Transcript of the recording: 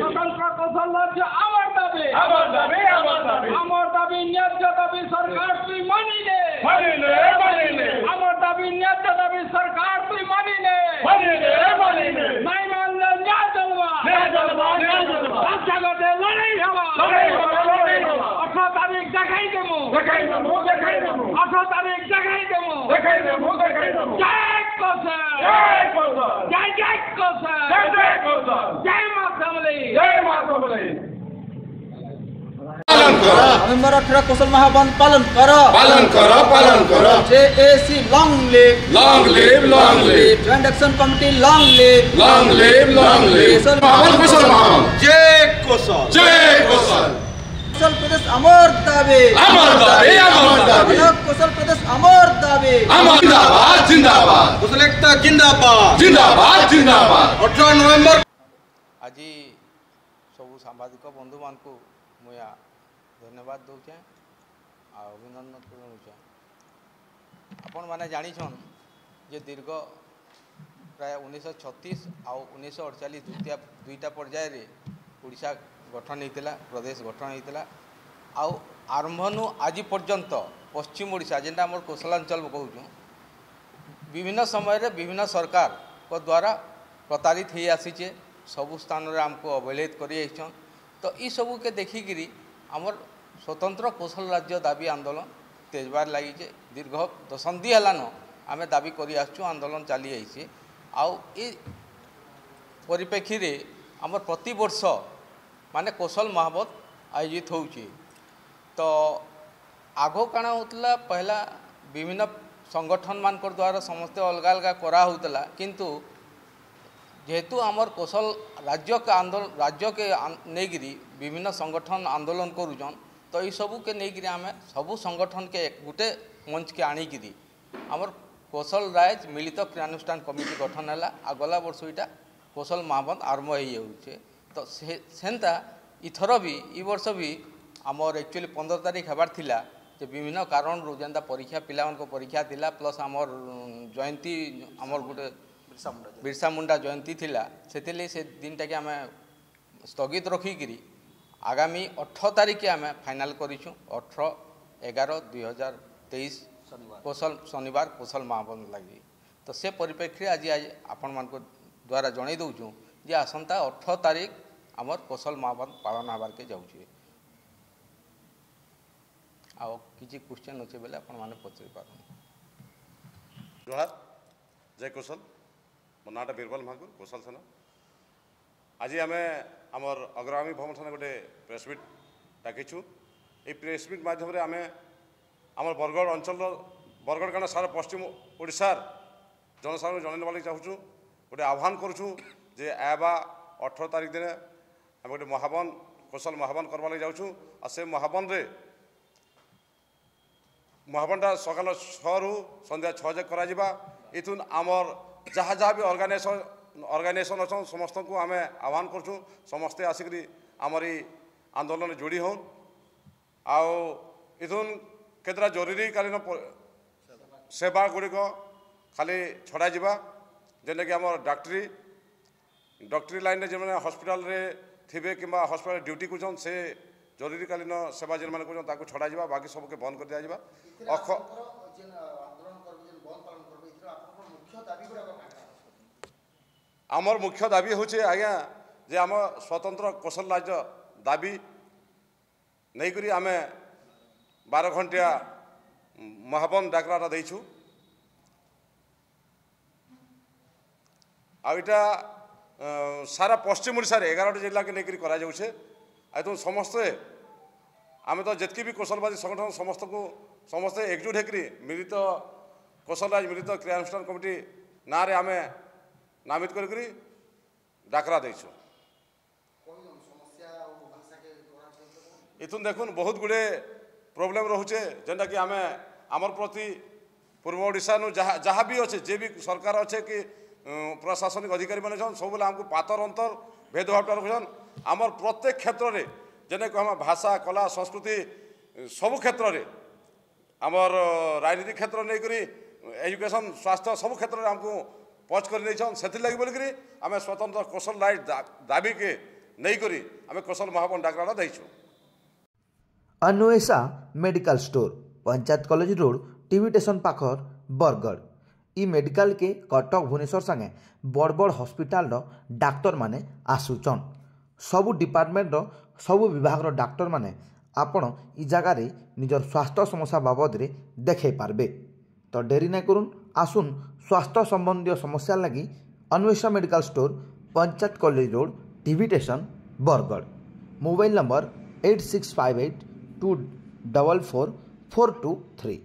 স্বতন্ত্র কৌশল রাজ্য আমার দাবি, আমার দাবি, আমার দাবি, আমার দাবি ন্যায্য দাবি সরকার তুই মানি নে, মানি নে, মানি নে। আমার দাবি ন্যায্য দাবি সরকার তুই মানি নে, মানি নে, মানি নে। নাই মানলে ন্যায় চলবা, ন্যায় চলবা, ন্যায় চলবা। রাস্তাঘাটে লড়াই হবা, লড়াই হবা, লড়াই হবা। 18 তারিখ দেখাই দেবো, দেখাই দেবো, দেখাই দেবো। 18 তারিখ দেখাই দেবো, দেখাই দেবো, দেখাই দেবো। জয় কৌশল, জয় কৌশল, জয় জয় কৌশল, জয় জয় কৌশল, জয় মা শ্যামলী, জয় মা শ্যামলী। পালন করো। নভেম্বর 18 কৌশল মহাবন পালন করো, পালন করো, পালন করো। JAC long live, long live, long live. Joint action committee long live, long live, long live. মহাবন কৌশল মহাবন, জয় কৌশল, জয় কৌশল। কৌশল প্রদেশ আমার দাবি, আমার দাবি, আমার দাবি। কৌশল প্রদেশ আমার দাবি, আমার। জিন্দাবাদ, জিন্দাবাদ। কৌশল একতা জিন্দাবাদ, জিন্দাবাদ, জিন্দাবাদ। 18 নভেম্বর আজি ସବୁ ସାମ୍ବାଦିକ ବନ୍ଧୁମାନଙ୍କୁ ମୁଇଁ ଧନ୍ୟବାଦ ଦେଉଛେଁ ଆଉ ଅଭିନନ୍ଦନ ଜଣାଉଛେଁ। ଆପଣମାନେ ଜାଣିଛନ୍ ଯେ ଦୀର୍ଘ ପ୍ରାୟ 1936 ଆଉ 1948 ଦୁଇଟା ପର୍ଯ୍ୟାୟରେ ଓଡ଼ିଶା ଗଠନ ହେଇଥିଲା, ପ୍ରଦେଶ ଗଠନ ହେଇଥିଲା। ଆଉ ଆରମ୍ଭନୁ ଆଜି ପର୍ଯ୍ୟନ୍ତ ପଶ୍ଚିମ ଓଡ଼ିଶା ଯେନ୍ଟା ଆମର କୋଶଳାଞ୍ଚଳ କହୁଛୁଁ, ବିଭିନ୍ନ ସମୟରେ ବିଭିନ୍ନ ସରକାରଙ୍କ ଦ୍ୱାରା ପ୍ରତାରିତ ହେଇ ଆସିଛେ, ସବୁ ସ୍ଥାନରେ ଆମକୁ ଅବହେଳିତ କରି ଆସିଛନ୍। ତ ଏସବୁକେ ଦେଖିକିରି ଆମର ସ୍ୱତନ୍ତ୍ର କୌଶଳ ରାଜ୍ୟ ଦାବି ଆନ୍ଦୋଳନ ତେଜବାର ଲାଗିଛେ। ଦୀର୍ଘ ଦଶନ୍ଧି ହେଲାନ ଆମେ ଦାବି କରି ଆସୁଛୁ, ଆନ୍ଦୋଳନ ଚାଲି ଆଇছে। ଆଉ ଏ ପରିପ୍ରେକ୍ଷୀରେ ଆମର ପ୍ରତିବର୍ଷ ମାନେ କୌଶଳ ମହାବତ ଆୟୋଜିତ ହେଉଛି। ତ ଆଗ କାଣା ହେଉଥିଲା, ପହିଲା ବିଭିନ୍ନ ସଂଗଠନ ମାନଙ୍କର ଦ୍ୱାରା ସମସ୍ତେ ଅଲଗା ଅଲଗା କରାହେଉଥିଲା, କିନ୍ତୁ ଯେହେତୁ ଆମର କୌଶଳ ରାଜ୍ୟକେ ଆନ୍ଦୋଳନ ରାଜ୍ୟକେ ନେଇକିରି ବିଭିନ୍ନ ସଂଗଠନ ଆନ୍ଦୋଳନ କରୁଛନ୍, ତ ଏଇସବୁକେ ନେଇକିରି ଆମେ ସବୁ ସଂଗଠନକେ ଗୋଟେ ମଞ୍ଚକେ ଆଣିକିରି ଆମର କୌଶଳ ରାଜ ମିଳିତ କ୍ରିୟାନୁଷ୍ଠାନ କମିଟି ଗଠନ ହେଲା। ଆଉ ଗଲା ବର୍ଷ ଏଇଟା କୌଶଳ ମହାବନ୍ଦ ଆରମ୍ଭ ହେଇଯାଉଛେ। ତ ସେ ସେନ୍ତା ଇଥର ବି ଇ ବର୍ଷ ବି ଆମର ଆକ୍ଚୁଆଲି 15 ତାରିଖ ହେବାର ଥିଲା, ଯେ ବିଭିନ୍ନ କାରଣରୁ ଯେନ୍ତା ପରୀକ୍ଷା ପିଲାମାନଙ୍କ ପରୀକ୍ଷା ଥିଲା, ପ୍ଲସ୍ ଆମର ଜୟନ୍ତୀ ଆମର ଗୋଟେ ବିର୍ସା ମୁଣ୍ଡା ଜୟନ୍ତୀ ଥିଲା, ସେଥିର୍ଲାଗି ସେ ଦିନଟାକେ ଆମେ ସ୍ଥଗିତ ରଖିକିରି ଆଗାମୀ 18 ତାରିଖ ଆମେ ଫାଇନାଲ୍ କରିଛୁଁ। 18/11/2023 କୌଶଳ ଶନିବାର କୌଶଳ ମହାବନ୍ଦ ଲାଗି। ତ ସେ ପରିପ୍ରେକ୍ଷୀରେ ଆଜି ଆଜି ଆପଣମାନଙ୍କ ଦ୍ୱାରା ଜଣାଇ ଦେଉଛୁଁ ଯେ ଆସନ୍ତା 18 ତାରିଖ ଆମର କୌଶଳ ମହାବନ୍ଦ ପାଳନ ହେବାର୍କେ ଯାଉଛେ। ଆଉ କିଛି କ୍ୱେଶ୍ଚନ୍ ଅଛେ ବେଲେ ଆପଣମାନେ ପଚାରି ପାରନ୍। ଜୁହାର, ଜୟ କୌଶଲ। ମୋ ନାଁଟା ବୀରବଲ ମହାକୁର, କୌଶଲ ସେନା। ଆଜି ଆମେ ଆମର ଅଗ୍ରଗାମୀ ଭବନ ଥାନା ଗୋଟେ ପ୍ରେସ୍ ମିଟ୍ ଡାକିଛୁ। ଏଇ ପ୍ରେସ୍ ମିଟ୍ ମାଧ୍ୟମରେ ଆମେ ଆମର ବରଗଡ଼ ଅଞ୍ଚଳର, ବରଗଡ଼ କାରଣ ସାରା ପଶ୍ଚିମ ଓଡ଼ିଶାର ଜନସାଧାରଣଙ୍କୁ ଜଣାଇ ନେବା ଲାଗି ଚାହୁଁଛୁ, ଗୋଟେ ଆହ୍ୱାନ କରୁଛୁ ଯେ ଆଇବା 18 ତାରିଖ ଦିନ ଆମେ ଗୋଟେ ମହାବନ କୌଶଳ ମହାବନ କରବା ଲାଗି ଯାଉଛୁ। ଆଉ ସେ ମହାବନରେ ମହାବନଟା ସକାଳ 6ରୁ ସନ୍ଧ୍ୟା 6 ଯାକ କରାଯିବା। ଏଥୁନ୍ ଆମର ଯାହା ଯାହା ବି ଅର୍ଗାନାଇଜେସନ୍ ଅଛନ୍ ସମସ୍ତଙ୍କୁ ଆମେ ଆହ୍ୱାନ କରୁଛୁ, ସମସ୍ତେ ଆସିକରି ଆମର ଏଇ ଆନ୍ଦୋଳନରେ ଯୋଡ଼ି ହଉନ୍। ଆଉ ଏଥୁନ୍ କେତେଟା ଜରୁରୀକାଳୀନ ସେବା ଗୁଡ଼ିକ ଖାଲି ଛଡ଼ାଯିବା, ଯେନ୍ଟାକି ଆମର ଡକ୍ଟରୀ ଲାଇନ୍ରେ ଯେଉଁମାନେ ହସ୍ପିଟାଲରେ ଥିବେ କିମ୍ବା ହସ୍ପିଟାଲରେ ଡ୍ୟୁଟି କରୁଛନ୍, ସେ ଜରୁରୀକାଳୀନ ସେବା ଯେନ୍ମାନେ କରୁଛନ୍ ତାକୁ ଛଡ଼ାଯିବା, ବାକି ସବୁକେ ବନ୍ଦ କରିଦିଆଯିବା। ଆମର ମୁଖ୍ୟ ଦାବି ହେଉଛି ଆଜ୍ଞା ଯେ ଆମ ସ୍ୱତନ୍ତ୍ର କୌଶଳ ରାଜ୍ୟ ଦାବି ନେଇକରି ଆମେ 12 ଘଣ୍ଟିଆ ମହାବନ ଡାକରାଟା ଦେଇଛୁ। ଆଉ ଏଇଟା ସାରା ପଶ୍ଚିମ ଓଡ଼ିଶାରେ 11ଟି ଜିଲ୍ଲାକେ ନେଇକରି କରାଯାଉଛେ। ଆଉ ତ ସମସ୍ତେ ଆମେ ତ ଯେତିକି ବି କୌଶଳବାଦୀ ସଂଗଠନ ସମସ୍ତଙ୍କୁ ସମସ୍ତେ ଏକଜୁଟ ହେଇକରି ମିଳିତ କୌଶଳ ରାଜ ମିଳିତ କ୍ରିୟାନୁଷ୍ଠାନ କମିଟି ନାଁରେ ଆମେ ନାମିତ କରିକରି ଡାକରା ଦେଇଛୁ। ଏଥୁନ୍ ଦେଖୁନ୍ ବହୁତ ଗୁଡ଼ିଏ ପ୍ରୋବ୍ଲେମ୍ ରହୁଛେ, ଯେନ୍ଟାକି ଆମେ ଆମର ପ୍ରତି ପୂର୍ବ ଓଡ଼ିଶାନୁ ଯାହା ଯାହା ବି ଅଛେ, ଯେ ବି ସରକାର ଅଛେ କି ପ୍ରଶାସନିକ ଅଧିକାରୀମାନେ ଅଛନ୍, ସବୁବେଳେ ଆମକୁ ପାତର ଅନ୍ତର ଭେଦଭାବଟା ରଖୁଛନ୍। ଆମର ପ୍ରତ୍ୟେକ କ୍ଷେତ୍ରରେ ଯେନେ ଆମ ଭାଷା କଲା ସଂସ୍କୃତି ସବୁ କ୍ଷେତ୍ରରେ ଆମର ରାଜନୀତି କ୍ଷେତ୍ର ନେଇକରି ଏଜୁକେସନ୍ ସ୍ୱାସ୍ଥ୍ୟ ସବୁ କ୍ଷେତ୍ରରେ ଆମକୁ ପଛ କରି ନେଇଛନ୍। ସେଥିର୍ଲାଗି ବୋଲିକରି ଆମେ ସ୍ୱତନ୍ତ୍ର କୌଶଳ ରାଇଟ୍ ଦାବିକେ ନେଇକରି ଆମେ କୋଶଲ ମହାବନ ଡାକରାଟା ଦେଇଛୁ। Anwesha medical store, panchayat college road, TV station ପାଖର, ବରଗଡ଼। ଇ ମେଡ଼ିକାଲକେ କଟକ, ଭୁବନେଶ୍ୱର ସାଙ୍ଗେ ବଡ଼ ବଡ଼ ହସ୍ପିଟାଲର ଡାକ୍ତରମାନେ ଆସୁଛନ୍। ସବୁ ଡିପାର୍ଟମେଣ୍ଟର, ସବୁ ବିଭାଗର ଡାକ୍ତରମାନେ ଆପଣ ଇ ଜାଗାରେ ନିଜର ସ୍ୱାସ୍ଥ୍ୟ ସମସ୍ୟା ବାବଦରେ ଦେଖେଇ ପାରବେ। ତ ଡେରି ନାଇଁ କରୁନ୍, ଆସୁନ୍ ସ୍ୱାସ୍ଥ୍ୟ ସମ୍ବନ୍ଧୀୟ ସମସ୍ୟା ଲାଗି Anwesha medical store, panchayat college road, TV station, Bargarh. Mobile number 8658244423।